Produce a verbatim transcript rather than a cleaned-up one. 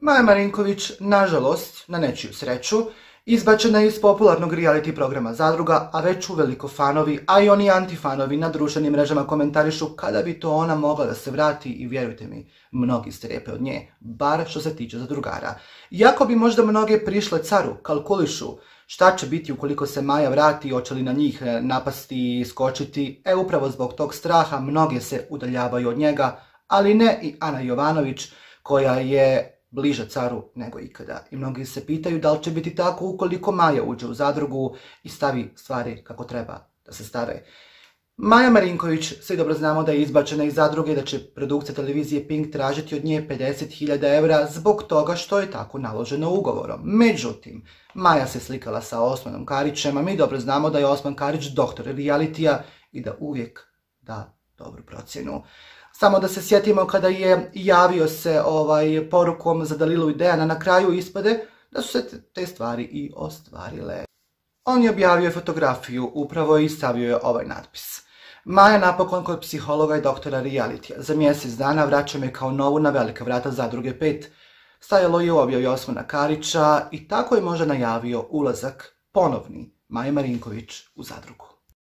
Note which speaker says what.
Speaker 1: Maja Marinković, nažalost, na nečiju sreću, izbačena je iz popularnog reality programa Zadruga, a već uveliko fanovi, a i oni antifanovi na društvenim mrežama komentarišu kada bi to ona mogla da se vrati i vjerujte mi, mnogi strepe od nje, bar što se tiče zadrugara. Iako bi možda mnoge prišle caru, kalkulišu šta će biti ukoliko se Maja vrati, hoće li na njih napasti i skočiti, e upravo zbog tog straha mnoge se udaljavaju od njega, ali ne i Ana Jovanović koja je bliže caru nego ikada. I mnogi se pitaju da li će biti tako ukoliko Maja uđe u zadrugu i stavi stvari kako treba da se stave. Maja Marinković, svi dobro znamo da je izbačena iz zadruge i da će produkcija televizije Pink tražiti od nje pedeset hiljada evra zbog toga što je tako naloženo ugovorom. Međutim, Maja se slikala sa Osmanom Karićem, a mi dobro znamo da je Osman Karić doktor realitija i da uvijek da dobru procjenu. Samo da se sjetimo kada je javio se ovaj porukom za Dalilu i Dejana, na kraju ispade da su se te stvari i ostvarile. On je objavio fotografiju upravo i stavio je ovaj natpis. Maja napokon kod psihologa i doktora realitija. Za mjesec dana vraća me kao novu na velika vrata Zadruge pet. Stajalo je u objavi Osmana Karića i tako je možda najavio ulazak ponovni Maje Marinković u Zadrugu.